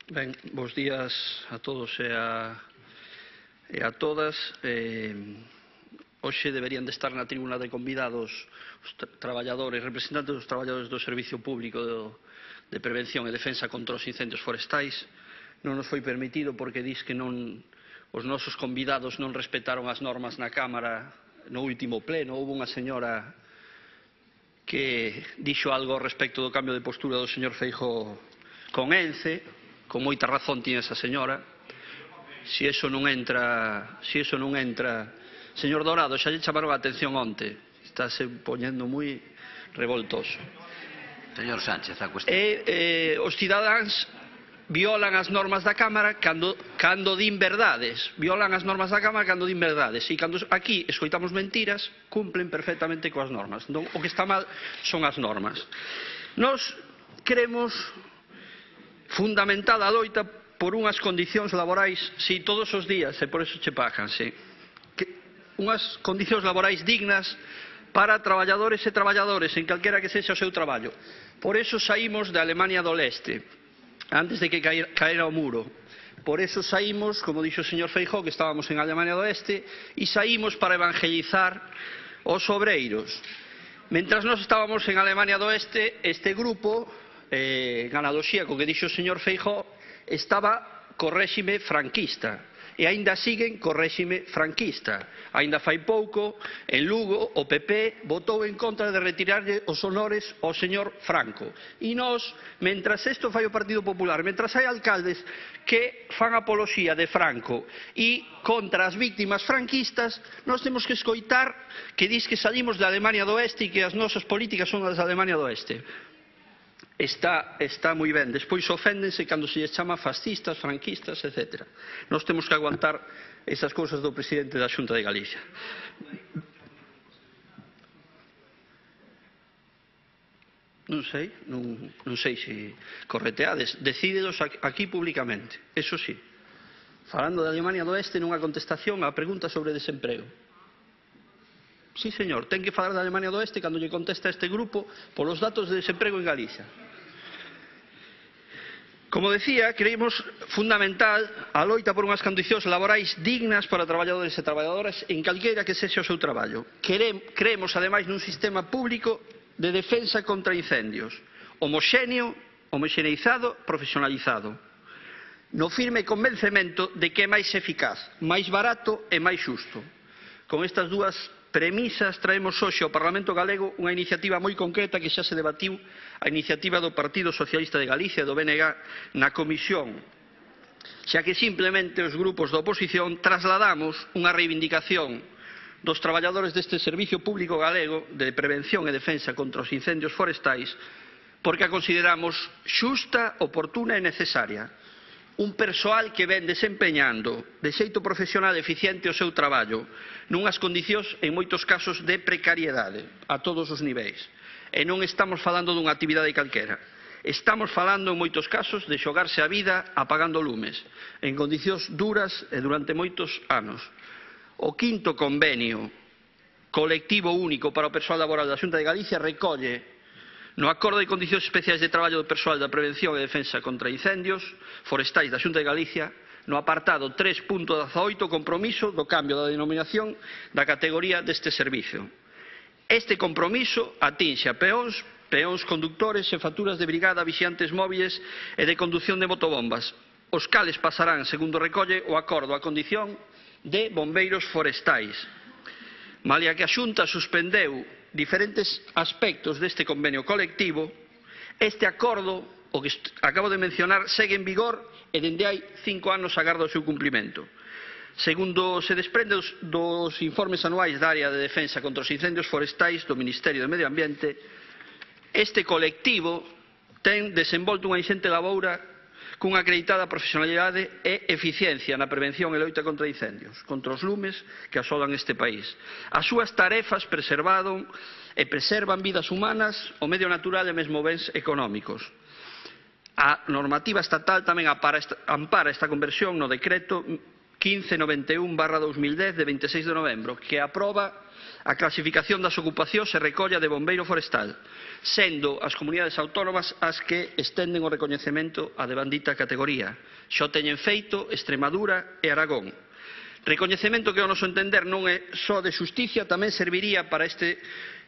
Ben, bos días a todos e a todas. Hoxe deberían de estar na tribuna de convidados os traballadores, representantes dos traballadores do Servicio Público de Prevención e Defensa contra os Incendios Forestais. Non nos foi permitido porque dis que os nosos convidados non respetaron as normas na Cámara no último pleno. Houve unha señora que dixo algo respecto do cambio de postura do señor Feijóo con Ence. Con moita razón tiña esa señora. Se iso non entra, señor Dorado, xa lle chamaron a atención onte. Estáse poñendo moi revoltoso. Señor Sánchez, a cuestión. Os cidadáns violan as normas da Cámara cando din verdades. Violan as normas da Cámara cando din verdades. E cando aquí escoitamos mentiras, cumplen perfectamente coas normas. Non, o que está mal son as normas. Nós queremos fundamentada a loita por unhas condicións laborais, si, todos os días, e por eso che pagan, si. Unhas condicións laborais dignas para traballadores e traballadores, en calquera que sexa o seu traballo. Por eso saímos de Alemania do Leste, antes de que caera o muro. Por eso saímos, como dixo o señor Feijóo, que estábamos en Alemania do Oeste, e saímos para evangelizar os obreiros. Mentras nós estábamos en Alemania do Oeste, este grupo, en analoxía co que dixo o señor Feijóo, estaba co réxime franquista e aínda siguen co réxime franquista. Aínda fai pouco, en Lugo, o PP votou en contra de retirarlle os honores ao señor Franco. E nós, mentras isto fai o Partido Popular, mentras hai alcaldes que fan apoloxía de Franco e contra as víctimas franquistas, nós temos que escoitar que dis que salimos de Alemania do Oeste e que as nosas políticas son as de Alemania do Oeste. Está moi ben. Despois oféndense cando se lles chama fascistas, franquistas, etc. Nós temos que aguantar esas cousas do presidente da Xunta de Galicia. Non sei se correteades. Decídelos aquí públicamente. Eso sí. Falando de Alemania do Oeste nunha contestación á pregunta sobre desemprego. Sí, señor, ten que falar de Alemania do Oeste cando lle contesta este grupo polos datos de desemprego en Galicia. Como decía, creemos fundamental a loita por unhas condicións laborais dignas para traballadores e traballadoras en calqueira que sexa o seu traballo. Creemos, ademais, nun sistema público de defensa contra incendios, homoxeneizado, profesionalizado, no firme convencemento de que é máis eficaz, máis barato e máis xusto. Con estas dúas premisas traemos hoxe ao Parlamento Galego unha iniciativa moi concreta que xa se debatiu, a iniciativa do Partido Socialista de Galicia e do BNG na Comisión, xa que simplemente os grupos da oposición trasladamos unha reivindicación dos traballadores deste Servicio Público Galego de Prevención e Defensa contra os Incendios Forestais porque a consideramos xusta, oportuna e necesaria. Un persoal que ven desempeñando de xeito profesional e eficiente o seu traballo nunhas condicións en moitos casos de precariedade a todos os niveis. E non estamos falando dunha actividade calquera. Estamos falando en moitos casos de xogarse a vida apagando lumes en condicións duras e durante moitos anos. O quinto convenio colectivo único para o persoal laboral da Xunta de Galicia recolle no Acordo de Condicións Especiais de Traballo do Persoal da Prevención e Defensa contra Incendios Forestais da Xunta de Galicia, no apartado 3.18, compromiso do cambio da denominación da categoría deste servicio. Este compromiso atinxe a peóns, conductores, xefaturas de brigada, vixiantes móviles e de condución de motobombas, os cales pasarán, segundo recolle o acordo, a condición de bombeiros forestais. Malia que a Xunta suspendeu diferentes aspectos deste convenio colectivo, este acordo, o que acabo de mencionar, segue en vigor e dende hai 5 anos agarda o seu cumprimento. Segundo se desprende dos informes anuais da área de defensa contra os incendios forestais do Ministerio de Medio Ambiente, este colectivo ten desenvolto unha inxente laboura cunha acreditada profesionalidade e eficiencia na prevención e loita contra incendios, contra os lumes que asolan este país. As súas tarefas preservan vidas humanas, o medio natural e mesmo bens económicos. A normativa estatal tamén ampara esta conversión no decreto 1591/2010 de 26 de novembro, que aproba a clasificación das ocupacións e recolla de bombeiro forestal, sendo as comunidades autónomas as que estenden o recoñecemento a devandita categoría. Xa o teñen feito Extremadura e Aragón. Recoñecemento que, ao noso entender, non é só de xusticia, tamén serviría para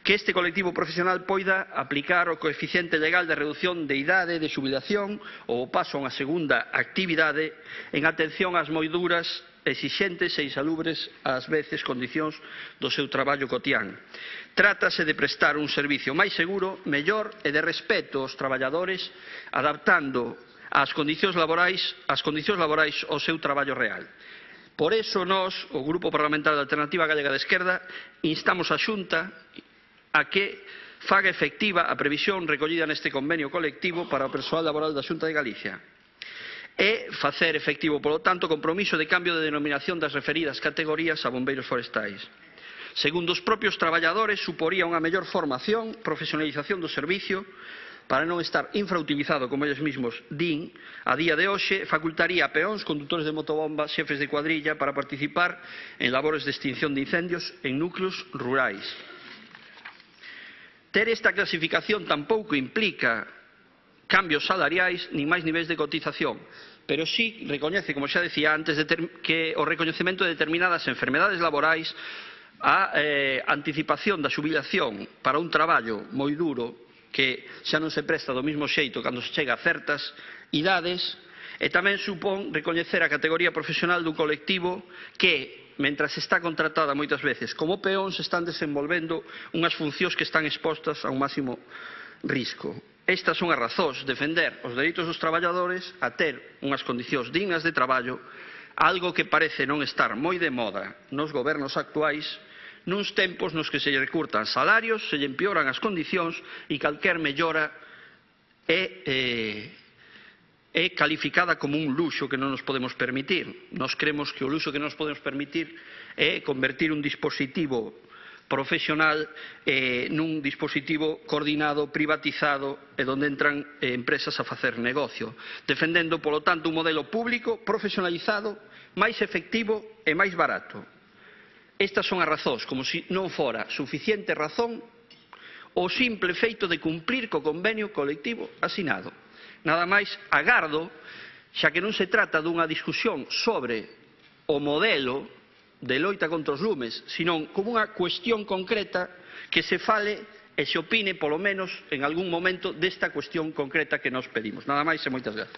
que este colectivo profesional poida aplicar o coeficiente legal de reducción de idade de xubilación ou o paso a unha segunda actividade en atención ás moi duras, exixentes e insalubres ás veces condicións do seu traballo cotián. Trátase de prestar un servicio máis seguro, mellor e de respeto aos traballadores, adaptando as condicións laborais ao seu traballo real. Por iso, nós, o Grupo Parlamentario da Alternativa Galega de Esquerda, instamos a Xunta a que faga efectiva a previsión recollida neste convenio colectivo para o persoal laboral da Xunta de Galicia e facer efectivo, polo tanto, o compromiso de cambio de denominación das referidas categorías a bombeiros forestais. Segundo os propios traballadores, suporía unha mellor formación, profesionalización do servicio, para non estar infrautilizado, como eles mesmos din, a día de hoxe, facultaría a peóns, condutores de motobomba, xefes de cuadrilla, para participar en labores de extinción de incendios en núcleos rurais. Ter esta clasificación tampouco implica cambios salariais nin máis niveis de cotización, pero sí recoñece, como xa decía antes, que o recoñecemento de determinadas enfermedades laborais, a anticipación da xubilación para un traballo moi duro que xa non se presta do mesmo xeito cando se chega a certas idades, e tamén supón recoñecer a categoría profesional dun colectivo que, mentras está contratada moitas veces como peóns, están desenvolvendo unhas funcións que están expostas a un máximo risco. Estas son as razóns de defender os dereitos dos traballadores a ter unhas condicións dignas de traballo, algo que parece non estar moi de moda nos gobernos actuais, nuns tempos nos que se lle recurtan salarios, se lle empeoran as condicións e calquer mellora é calificada como un luxo que non nos podemos permitir. Nós cremos que o luxo que non nos podemos permitir é convertir un dispositivo profesional nun dispositivo coordinado, privatizado e onde entran empresas a facer negocio, defendendo, polo tanto, un modelo público, profesionalizado, máis efectivo e máis barato. Estas son as razóns, como se non fora suficiente razón o simple feito de cumplir co convenio colectivo asinado. Nada máis agardo, xa que non se trata dunha discusión sobre o modelo de loita contra os lumes, senón como unha cuestión concreta que se fale e se opine, polo menos, en algún momento desta cuestión concreta que nos pedimos. Nada máis e moitas grazas.